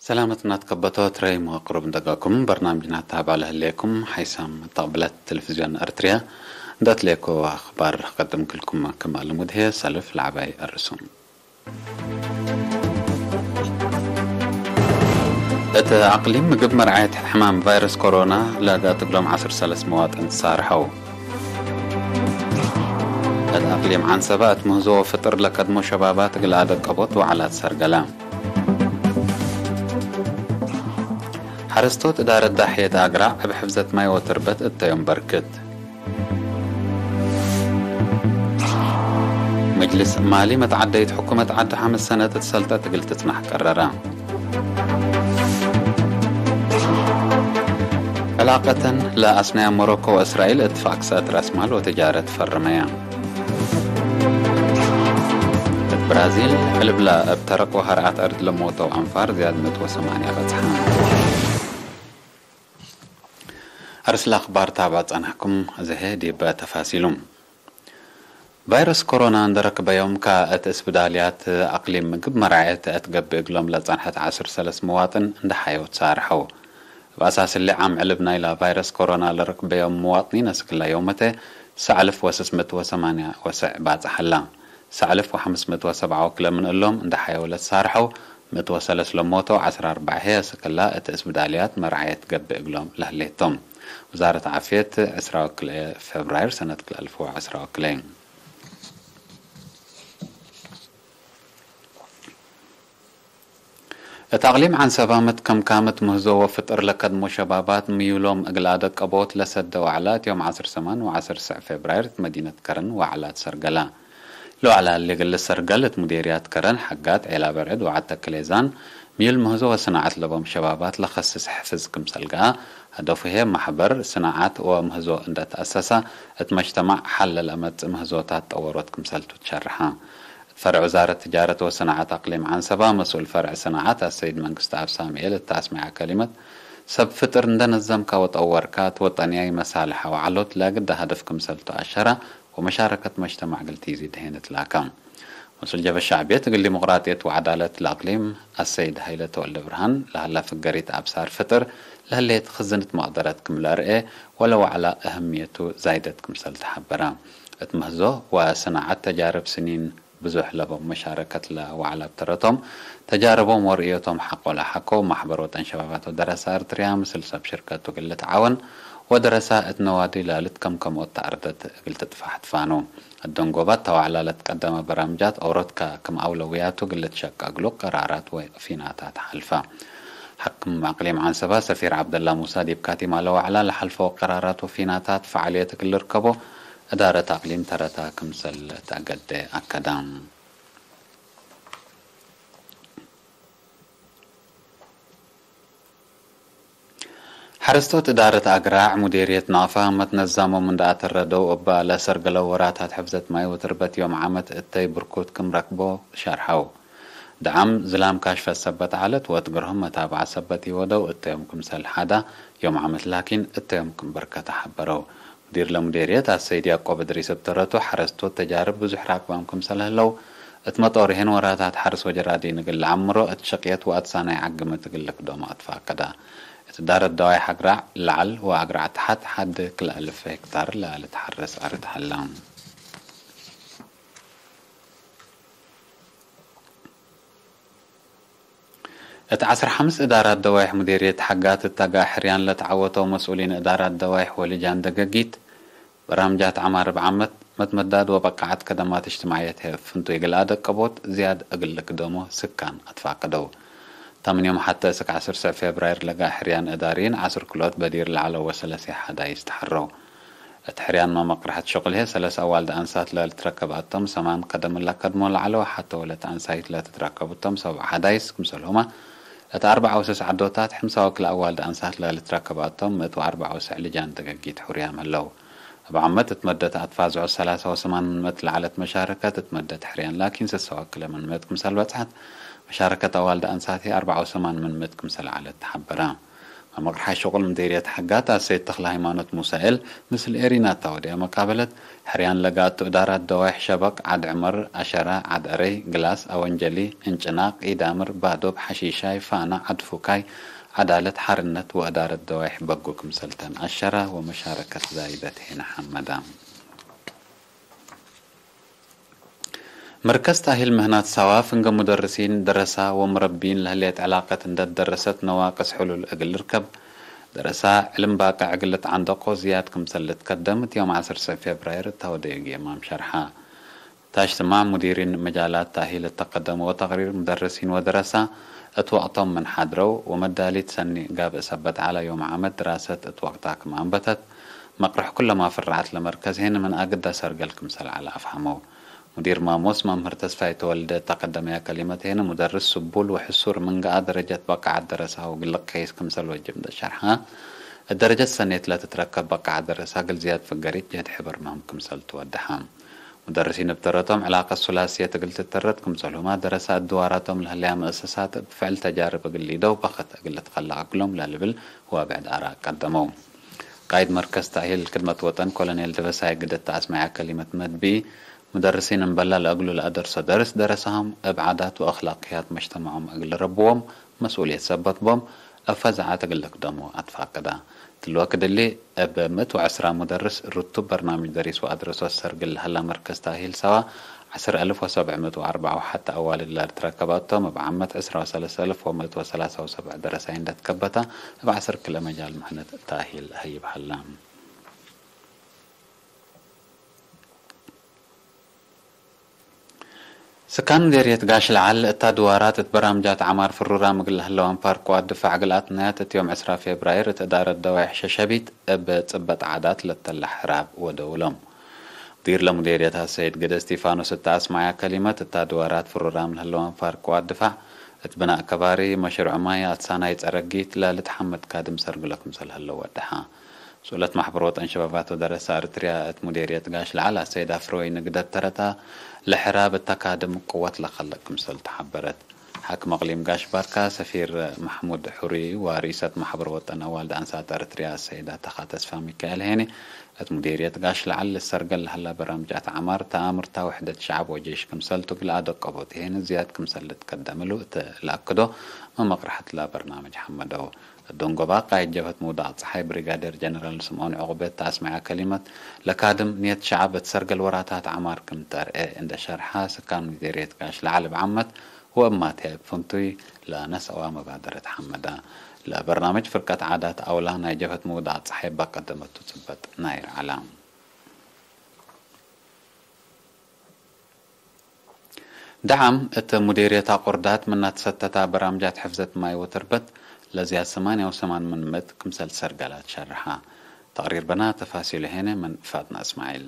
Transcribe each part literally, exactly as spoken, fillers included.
ሰላመትና ትከበቶ ትረይ መዋቅሩብ እንደጋኩም በርናምጅና ታባለ ህሌኩም ሓይሳም ተቅብለት ቴሌቪዝዮን ኤርትርያ እንደትሌኮ አኽባር ቀድም ክልኩም ክም አልሙድ ህየ ሰልፍ ለዐባይ አርሱም። እት አቅሊም ምግብ መርዓየት ሕማም ቫይረስ ኮሮና ለጋጥግሎም ዐስር ሰለስ መዋጥን ትሳርሐው። እት አቅሊም ዐንሰበ እት ምህዞ ወፍጥር ለከድሞ ሸባባት እግል አደቀቦት ወዐላት ሰርገለ። ሐረስቶት እዳረት ዳሕየት አግራዕ እብ ሕፍዘት ማይ ወትርበት እተዮም በርክት። መጅልስ ማሊ መትዓደይት ሕኩመት ዐድ ሐምስ ሰነት እት ሰልጠት እግል ትጽናሕ ቀረረ። ዕላቀተን ለአስነያ ሞሮኮ ወእስራኤል እትፋቅ ሰእት ረአስማል ወትጃረት ፈርመያ። እት ብራዚል፣ ዕልብላ እብ ተረቆ ሀርዓት አርድ ለሞተው አንፋር ዝያድ ምእት ወሰማንያ በጽሐ። አርስለ አኽባር ታብዐ ጸናሕኩም፣ እዘሄ ዲብ ተፋሲሉ። ቫይረስ ኮሮና እንደ ረክበዮም ከእት እስብዳልያት አቅሊም ምግብ መርዓየት እት ገብእ እግሎም ለጸንሐት ዐስር ሰለስ መዋጥን እንደ ሐየው ትሳርሐው። እብ አሳስ እሊ ዓም ዕልብ ናይላ ቫይረስ ኮሮና ለረክበዮም መዋጥኒን አስክላ ዮመተ ሰዕ አልፍ ወስስ ምእት ወሰማንያ ወሰዕ ባጽሕ ሀላ። ሰዕ አልፍ ወሐምስ ምእት ወሰብዓ ወክለ ምን እሎም እንደ ሐየው ለትሳርሐው፣ ምእት ወሰለስ ለሞተው፣ ዐስር አርበዕ ህይ አስክላ እት እስብዳልያት መርዓየት ገብእ እግሎም ለህሌቶም። ውዛረት ዓፍየት፣ ዕስራ ወክልኤ ፌብራይር ሰነት ክልኤ አልፍ ወዐስራ ወክልኤ። እት አቅሊም ዐንሰባ መትከምካመት ምህዞ ወፍጥር ለከድሞ ሸባባት ምዩሎም እግል አደቀቦት ለሰደ ወዐላት ዮም ዐስር ሰማን ወዐስር ሰዕ ፌብራይር እት መዲነት ከረን ወዐላት ሰርገላ። ለወዐላ እሊ እግል ልሰርገል እት ሙዴርያት ከረን፣ ሐጋት፣ ዔላ በርዕድ ወዐድ ተክሌዛን፣ ምዩል ምህዞ ወስናዐት ለቦም ሸባባት ለከስስ ሕፍዝ ክምሰል ገአ፣ ሀደፉ ህዬ ማሕበር ስናዐት ወምህዞ እንደ ተአሰሰ፣ እት መጅተማዕ ሐል ለለአመጽእ ምህዞታት ጠወሮት ክምሰልቱ ትሸርሐ። እት ፈርዕ ውዛረት ትጃረት ወስናዐት አቅሊም ዐንሰባ፣ መስኡል ፈርዕ ስናዐት አሰይድ መንግስትአብ ሳምኤል እት አስመዐ ከሊመት፣ ሰብ ፍጥር እንደ ነዘምካ ወጠወርካ፣ እት ወጠንያይ መሳልሐ ወዐሎት ለግደ ሀደፍ ክምሰልቱ አሸረ፣ ወመሻረከት መጅተማዕ እግል ቲዚድ ህዬ ንትላከ። መስኡል ጀብሀት ሸዕብየት እግል ዲሞቅራጥየት ወዐዳለት ለአቅሊም አሰይድ ሀይለ ተወልደ ብርሃን፣ ለሀላ ፍገሪት አብሳር ፍጥር ለህሌት ክዝንት መቅደረት ክም ለአርኤ ወለወዐላ እህምየቱ ዛይደት ክምሰል ተሐበረ። እት ምህዞ ወሰናዐት ተጃርብ ስኒን ብዙሕ ለቦም መሻረከት ለወዐላ እብ ተረቶም፣ ተጃርቦም ወርእዮቶም ሐቆ ለሐከው ማሕበር ወጠን ሸባባት ወደረሳ እርትርያ ምስል ሰብ ሽርከቱ እግል ልትዓወን ወደረሳ እት ነዋዲ ለልትከምከም ወተአርደት እግል ትጥፋሕ ትፋኑ። አደንጎባት ተወዕላ ለትቀደመ በራምጃት ኦሮትከ ክም አውለውያቱ እግል ልትሸቀ እግሉ ቀራራት ወፊናታት ሐልፈ። ሐክም አቅሊም ዐንሰባ ሰፊር ዐብደላ ሙሳ ዲብ ካቲማ ለወዕላ ለሐልፈው ቀራራት ወፊናታት ፈዓልየት እግል ልርከቦ እዳረት አቅሊም ተረታ ክምሰል ተአገደ አከደ። ሐረስቶት እዳረት አግራዕ ሙዴርየት ናቅፋ መትነዛሞም እንደ አተረደው እበ ለሰርገለው ወራታት ሕፍዘት ማይ ወትርበት ዮም ዓመት እተይ ብርኩት ክም ረክቦ ሸርሐው። ደዓም ዝላም ካሽፈት ሰበት ዐለት ወእት ግርሆም መታብዐት ሰበት ኢወደው እተዮም ክምሰል ሐዳ ዮም ዓመት ላኪን እተዮም ክም በርከተ ሐበረው። ሙዲር ለሙዴርየት አሰይድ ያቆብ እድሪስ እብ ተረቱ፣ ሐረስቶት ተጃርብ ብዙሕ ራክባም ክምሰል ህለው፣ እት መጦርሄን ወራታት ሐርስ ወጀራዲን እግል ለዐምሮ፣ እት ሽቅየት ወአትሳናይ ዐግምት እግል ልክዶሞ አትፋቀዳ። እት ዳረት ደዋይ ሐግራዕ ለዐል ወአግራዕ ተሐት ሐድ ክልኤ አልፍ ሄክታር ለልትሐረስ አርድ ሀላ። እት ዐስር ሐምስ እዳራት ደዋይሕ ሙዴርየት ሐጋት እት አጋ ሕርያን ለተዐወተው መስኡሊን እዳራት ደዋይሕ ወልጃን ደገጊት፣ በራምጃት ዐማር እብ ዓመት መትመዳድ ወበቃዐት ከደማት እጅትማዕየት ህይ እብ ፍንቱይ እግል አደቀቦት ዝያድ እግል ልክደሞ ስካን አትፋቀደው። ተ ምን ዮም ሐቴ እስክ ዐስር ሰዕ ፌብራይር ለጋ ሕርያን እዳርይን ዐስር ክልኦት በዲር ለዐለው ወሰለሴ ሐዳይስ ተሐረው። እት ሕርያንመ መቅርሐት ሸቁል ህዬ ሰለስ አዋልድ አንሳት ለልትረከብ አቶም፣ ሰማን ከደም ለከድሞ ለዐለው ሐተ ወለት አንሳይት ለትትረከብ እቶም ሰብዕ ሐዳይስ ክምሰልሁመ፣ እት አርበዕ ወስስ ዐዶታት ሕምሳ ወክልኤ አዋልድ አንሳት ለልትረከብ አቶም፣ ምእት ወአርበዕ ወስዕ ልጃን ደገጊት ሕሩያም ህለው። እብ ዓመት እት መደት አትፋዝዖ ሰላሳ ወሰማን ምን ምእት ለዐለት መሻረከት እት መደት ሕርያን ላኪን ስሳ ወክልኤ ምን ምእት ክምሰል በጽሐት፣ መሻረከት አዋልድ አንሳት ህዬ አርበዕ ወሰማን ምን ምእት ክምሰል ዐለት ተሐበረ። መምርሓ ሽቁል ምዴርየት ሐጋት አሰይድ ተክለሃይማኖት ሙሳኤል ምስል ኤሪና እተ ወድየ መቃበለት፣ ሕርያን ለጋቱ እዳራት ደዋይሕ ሸበቅ፣ ዐድ ዕመር፣ አሸረ፣ ዐድ አረይ፣ ግላስ፣ አወንጀሊ፣ እንጭናቅ፣ ኢዳምር፣ ባዶብ፣ ሐሺሻይ፣ ፋና፣ ዐድ ፉካይ፣ ዐዳለት፣ ሐርነት ወእዳረት ደዋይሕ በጉ ክምሰልተን አሸረ ወመሻረከት ዛይደት ሄነ ሐመዳ። መርከዝ ተእሂል ምህናት ሳዋ ፍንገ ሙደርሲን፣ ደረሳ ወሙረቢን ለህሌት ዕላቀት እንደ ትደረሰት ነዋቅስ ሕሉል እግል ልርከብ፣ ደረሳ ዕልም ባቅዕ እግል ልትዓንደቆ ዝያድ ክምሰል ልትከደም እት ዮም ዐስር ፌብራይር እተ ወደዩ ጌማም ሸርሐ። ታች ስማዕ ሙዲሪን መጃላት ተእሂል እተ ቀደመዎ ተቅሪር፣ ሙደርሲን ወደረሳ እት ወቅቶም ምን ሓድረው ወመዳሊት ሰኒ ጋብእ ሰበት ዐለ፣ ዮም ዓመት ድራሰት እት ወቅታ ክም አንበተት፣ መቅርሕ ኩለማ ፍርዓት ለመርከዝ ሄነ ምን አግደ ሰርገል ክምሰል ዐለ አፍሀመው። ሙዲር ማሞስ መምህር ተስፋይ ተወልደ እተ ቀደመያ ከሊመት ሄነ፣ ሙደርስ ስቡል ወሕሱር ምን ገአ ደረጀት በቃዐት ደረሳሁ እግል ልከይስ ክምሰል ወጅብ እንደ ሸርሐ፣ እት ደረጀት ሰኔት ለትትረከብ በቃዐት ደረሳ እግል ዝያድ ፍገሪት ጀህድ ሕበር ምህም ክምሰል ትወደሐ። ሙደርሲን እብ ተረቶም ዕላቀት ሱላስየት እግል ትተረት ክምሰልሁመ፣ ደረሳ እድዋራቶም ለህለያ መአሰሳት እብ ፍዕል ተጃርብ እግል ሊደው በክት እግል ልትከለቅ እግሎም ለልብል ዋብዕድ አራእ ቀደመው። ቃይድ መርከዝ ተእሂል ክድመት ወጠን ኮሎኔል ደበሳይ ግደት ተአስመዐ ከሊመት መድቢ፣ ሙደርሲን እምበላ ለእግሉ ለአደርሶ ደርስ ደረሳሆም እብ ዓዳት ወአክላቅያት መጅተመዖም እግል ልረብዎም መስኡልየት ሰበት ቦም፣ እብ ፈዛዐት እግል ልክደሞ አትፋቅዳ። እትሊ ወክድ እሊ፣ እብ ምእት ወዐስራ ሙደርስ ርቱብ በርናምጅ ደሪስ ወአድረሶት ሰርግል ለሀላ መርከዝ ተእሂል ሰዋ፣ ዐስር አልፍ ወሰብዕ ምእት ወአርበዕ ወሐተ አዋልድ ለልትረከባቶም፣ እብ ዓመት ዐስራ ወሰለስ አልፍ ወምእት ወሰላሳ ወሰብዕ ደረሳይ እንደ ትከበታ፣ እብ ዐስር ክልኤ መጃል ምህነት ተእሂል ሀይብ ሀላ። ስካን ምዴርየት ጋሽ ለዓል፣ እታ ድዋራት እት በራምጃት ዐማር ፍሩራም እግል ለህለው አንፋር ቅዋት ድፋዕ እግል አትናያት፣ እት ዮም ዕስራ ፌብራይር እት እዳረት ደዋይሕ ሸሸቢት እብ ጽበጥ ዓዳት ለተለ ሕራብ ወደውሎም። ሙዲር ለሙዴርየት አሰይድ ግደ እስቲፋኖስ እተ አስመዐያ ከሊመት፣ እታ ድዋራት ፍሩራም ለህለው አንፋር ቅዋት ድፋዕ፣ እት ብናእ ከባሪ፣ መሽሩዕ ማይ፣ አትሳናይ ጸረጊት ለልትሐመድ ካድም ሰርግሎ ክምሰል ህለው ወደሐ። ሱለት ማሕበር ወጠን ሸባባት ወደረሳ እርትርያ እት ሙዴርየት ጋሽ ለዓል አሰይድ አፍረወይኒ ግደት ተረታ፣ ለሕራብ እተ ካድም ቅወት ለከልቅ ክምሰል ተሐበረት። ሓክም አቅሊም ጋሽ ባርካ፣ ሰፊር መሕሙድ ሑሪ ወሪሰት ማሕበር ወጠን አዋልድ አንሳት እርትርያ አሰይድ አተኻ ተስፋ ሚካኤል ሄኒ፣ እት ሙዴርየት ጋሽ ለዓል ልሰርገል ለሀላ በራምጃት ዐማር፣ ተአምርታ ውሕደት ሸዐብ ወጄሽ ክምሰልቱ እግል አደቀቦት ሄኒ ዝያድ ክምሰል ልትቀደም እሉ እት ለአክዶ፣ መመቅርሐት ለበርናምጅ ሐመደው። እዶንጎባ ቃይድ ጀብሀት ምውዳቅ ጸሓይ ብሪጋዴር ጀነራል ስምዖን ዕቁቤ እተ አስመዐ ከሊመት፣ ለካድም ንየት ሸዐብ እት ሰርገል ወራታት ዐማር ክም ተርኤ እንደ ሸርሐ፣ ስካን ሙዴርየት ጋሽ ለዓል እብ ዓመት ወእብ ማትያይ እብ ፍንቱይ ለነስአዋ መባደረት ሐመዳ። ለበርናምጅ ፍርቀት ዓዳት አውላ ናይ ጀብሀት ምውዳቅ ጸሓይ እበ ቀደመቱ ጽበጥ ናይር ዐላ። ደዓም እት ሙዴርየት አቁርዳት ምናት ሰተታ በራምጃት ሕፍዘት ማይ ወትርበት ለዝያድ ሰማንያ ወሰማን ምን ምእት ክምሰል ሰርገላት ሸርሐ። ተቅሪር በና ተፋሲሉ ሄነ ምን ፋጥና እስማዒል።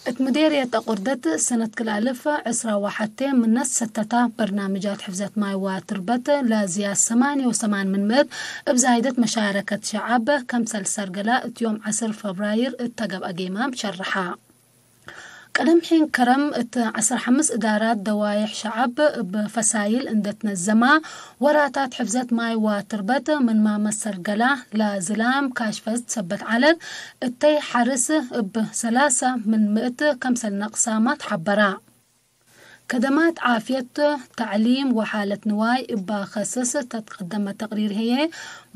እት ሙዴርየት አቁርደት ሰነት ክልኤ አልፍ ዕስራ ወሐቴ ምናት ሰተታ በርናምጃት ሕፍዘት ማይ ወትርበት ለዝያድ ሰማንያ ወሰማን ምን ምእት እብ ዛይደት መሻረከት ሸዐብ ከምሰል ሰርገላ እት ዮም ዐስር ፈብራይር እተ ገብአ ጌማም ሸርሐ። ቅድም ሒን ከረም እት ዐስር ሐምስ እዳራት ደዋይሕ ሸዐብ እብ ፈሳይል እንደ ትነዘማ፣ ወራታት ሕፍዘት ማይ ወትርበት ምንመ መሰርገላ ለዝላም ካሽፈት ሰበት ዐለት፣ እተይ ሐርስ እብ ሰላሰ ምን ምእት ከምሰል ነቅሳማ ተሐበራ። ከደማት ዓፍየት፣ ተዕሊም ወሓለት ንዋይ እባ ከስስ ተትቀደመ ተቅሪር ህዬ፣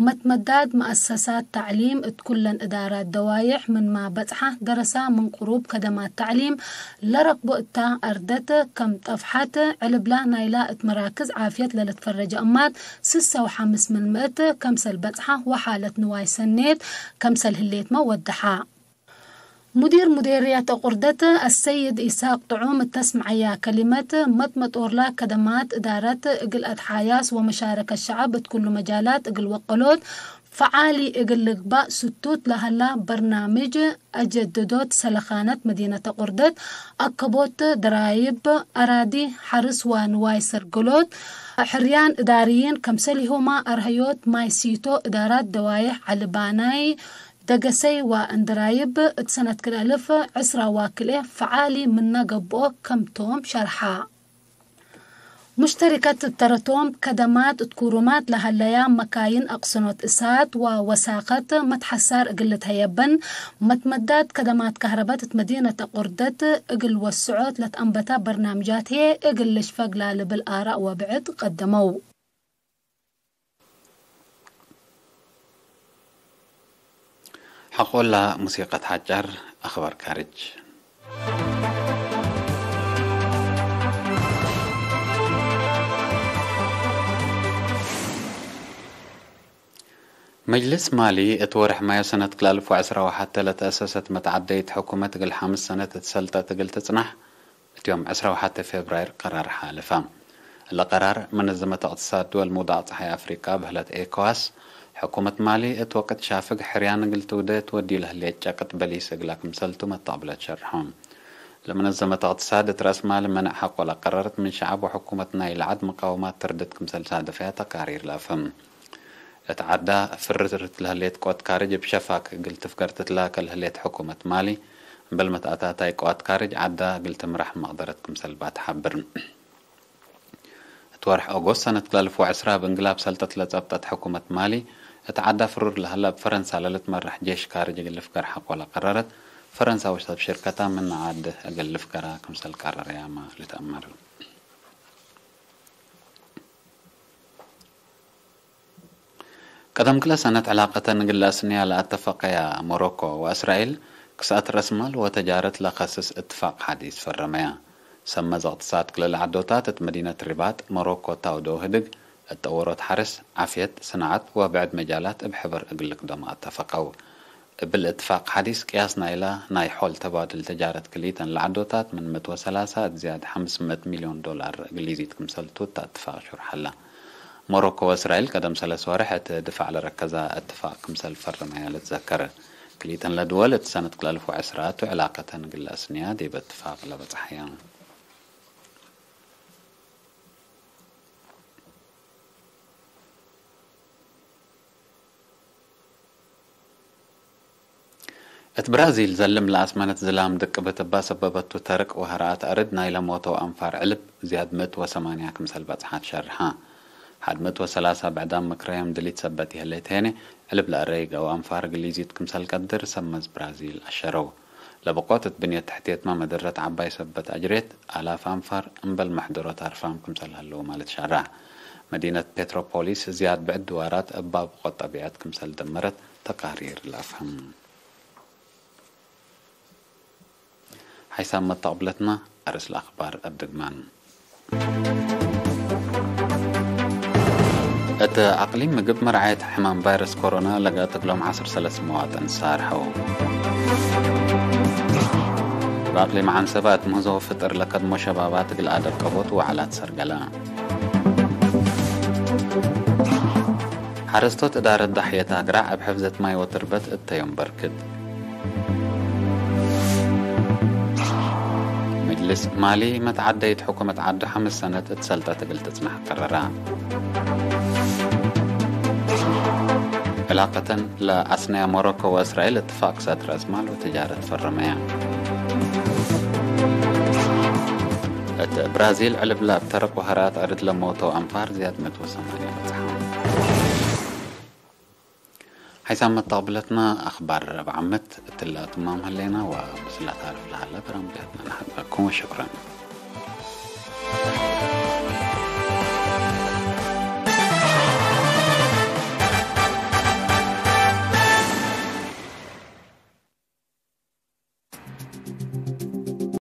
መትመዳድ መአሰሳት ተዕሊም እት ኩለን እዳራት ደዋይሕ ምንመ በጽሐ ደረሳ ምን ቅሩብ ከደማት ተዕሊም ለረክቦ እታ አርደት ከም ጠፍሐት፣ ዕልብላ ናይላ እት መራክዝ ዓፍየት ለልትፈረጀ እማት ስሰ ወሐምስ ምን ምእት ከምሰል በጽሐ ወሓለት ንዋይ ሰኔት ከምሰል ህሌትመ ወደሐ። ሙዲር ሙዴርየት አቁርደት አሰይድ ኢሳቅ ጥዑም እተስምዐያ ከሊመት፣ መጥመጦርላ ከደማት እዳረት እግል አትሓያስ ወመሻረከት ሸዐብ እት ኩሉ መጃላት እግል ወቀሎት ፈዓሊ እግል ልግባእ ስቱት ለሀላ በርናምጅ አጀድዶት ሰለኻነት መዲነት አቁርደት፣ አከቦት ደራይብ፣ አራዲ ሐርስ ወንዋይ ሰርገሎት፣ ሕርያን እዳርይን፣ ከምሰሊሆማ አርሀዮት ማይ ሲቶ፣ እዳራት ደዋይሕ ዐሊ ባናይ፣ ደገሰይ ወእንድራይብ እት ሰነት ክልኤ አልፍ ዕስራ ወክልኤ ፈዓሊ ምነ ገብኦ ከም ቶም ሸርሐ። ሙሽተሪከት እብ ተረቶም ከደማት እት ኩሩማት ለሀለያ መካይን አቅስኖት እሳት ወወሳከት መትሐሳር እግል ልትሀየበን፣ መትመዳት ከደማት ከህረበት እት መዲነት አቁርደት እግል ወስዖት ለትአንበታ በርናምጃት ህዬ እግል ልሽፈግ ላልብል አራእ ወብዕድ ቀደመው። ሐቆላ ሙሲቀት ሐጫር አኽባር ካርጅ። መጅልስ ማሊ እት ወርሕ ማዮ ሰነት ክልኤ አልፍ ወዕስራ ወሐተ ለተአሰሰት መትዓደይት ሕኩመት እግል ሐምስ ሰነት እት ሰልጠት እግል ትጽናሕ፣ እት ዮም ዕስራ ወሐተ ፌብራይር ቀራር ሓለፈ። እለ ቀራር፣ መነዘመት እቅትሳድ ድወል ምውዳቅ ጸሓይ አፍሪቃ በህለት ኤኮዋስ፣ ሕኩመት ማሊ እት ወቅት ሻፍግ ሕርያን እግል ትውዴ ትወድዩ ለህሌት ጨቅጥ በሊስ እግላ ክምሰልቱ መተቅብለት ሸርሖ። ለመነዘመት እቅትሳድ እት ረአስ ማል መነእ ሐቆ ለቀረረት ምን ሸዐብ ወሕኩመት ናይ ለዐድ መቃወማት ትርድት ክምሰል ሳደፈያ ተቃሪር ለአፍህም። እት ዐዳ ፍርርት ለህሌት ቆት ካርጅ እብ ሸፋክ እግል ትፍገር ትትላከ ለህሌት ሕኩመት ማሊ፣ እምበል መትአታታይ ቀዋት ካርጅ ዐዳ እግል ትምራሕ መቅደረት ክምሰል ባ ተሐብር። እት ወርሕ ኦጎስት ሰነት ክልኤ አልፍ ወዕስራ እብ እንግላብ ሰልጠት ለጸብጠት ሕኩመት ማሊ፣ እት ዐዳ ፍሩር ለሀላ እብ ፈረንሳ ለልትመራሕ ጄሽ ካርጅ እግል ልፍገር ሐቆ ለቀረረት፣ ፈረንሳ ወሰብ ሽርከታ ምን ዐድ እግል ልፍገራ ክምሰል ቀረረያመ ልትአመር። ቀደም ክለ ሰነት ዕላቀተን እግል ለአስንያ ለአተፈቀያ ሞሮኮ ወእስራኤል፣ ክስአት ረአስ ማል ወተጃረት ለከስስ እትፋቅ ሐዲስ ፈረመያ። ሰመዝ እቅትሳድ ክለ ለዐዶታት እት መዲነት ሪባጥ ሞሮኮ ታውዶ ህድግ፣ እት ጠወሮት ሐርስ፣ ዓፍየት፣ ስናዐት ወብዕድ መጃላት እብ ሕበር እግል ልክደሞ አተፈቀው። እብል እትፋቅ ሐዲስ ቅያስ ናይላ ናይ ሖል ተባድል ተጃረት ክልኢተን ለዐዶታት ምን ምእት ወሰላሳ እት ዝያድ ሐምስ ምእት ሚልዮን ዶላር እግል ኢዚድ ክምሰልቱ እተ እትፋቅ ሹርሕ ሀላ። ሞሮኮ ወእስራኤል ቀደም ሰለስ ወርሕ እት ድፋዕ ለረከዛ እትፋቅ ክምሰል ፈርመያ ልትዘከር። ክልኢተን ለድወል እት ሰነት ክልኤ አልፍ ወዕስራ ቱ ዕላቀተን እግል ለአስንያ ዲበ እትፋቅ ለበጽሐያ። እት ብራዚል፣ ዘልም ለአስመነት ዝላም ድቅብት እባ ሰበበቱ ተርቅ ወሀረአት አርድ ናይለ ሞተው አንፋር ዕልብ ዝያድ ምእት ወሰማንያ ክምሰል በጽሐት ሸርሐ። ሐድ ምእት ወሰላሳ ብዕዳም ምክረዮም ድሊት ሰበት ይህሌት ሄነ፣ ዕልብ ለአረይገው አንፋር እግል ኢዚድ ክምሰል ቀድር ሰመዝ ብራዚል አሸረው። ለብቆት እት ብንየት ተሕትየትመ መደረት ዐባይ ሰበት አጅሬት፣ አላፍ አንፋር እምበል መሕደሮት አርፋም ክምሰል ሀለው ማለት ሻራዕ። መዲነት ፔትሮፖሊስ ዝያድ ብዕድ ድዋራት እብ ባብ ቆት ጠቢዐት ክምሰል ደመረት ተቃሪር ለአፍህም። ሓይሳም መተቅብለትና፣ አርእስ ለአክባር እብ ድግማን። እት አቅሊም ምግብ መርዓየት ሕማም ቫይረስ ኮሮና ለጋጥግ ሎም ዐስር ሰለስ መዋጥን ሳርሐው። እብ አቅሊም ዐንሰበ እት ምህዞ ፍጥር ለከድሞ ሸባባት እግል አደብ ቀቦት ወዐላት ሰርገለ። ሐረስቶት እዳረት ዳሕየት አግራዕ እብ ሕፍዘት ማይ ወትርበት እተ ዮም በርክት። መጅልስ ማሊ መትዓደይት ሕኩመት ዐዱ ሐምስ ሰነት እት ሰልጠት እግል ትጽናሕ ቀረራ። ዕላቀተን ለአስነያ ሞሮኮ ወእስራኤል እትፋቅ ክሰት ረአስ ማል ወትጃረት ፈረመያ። እት ብራዚል ዕልብ ለአብ ተረቅ ወሀራት አርድ ለሞተው አንፋር ዝያድ ምእት ወሰማንያ በጽሐ። ሓይሳም መተቅብለትና አክባር ረብዕ ዓመት እትለ አትማም ሀሌና ወምስላ ታርፍ ለሀለ በራምጃትና ነሐብረኩም ወሽክረን።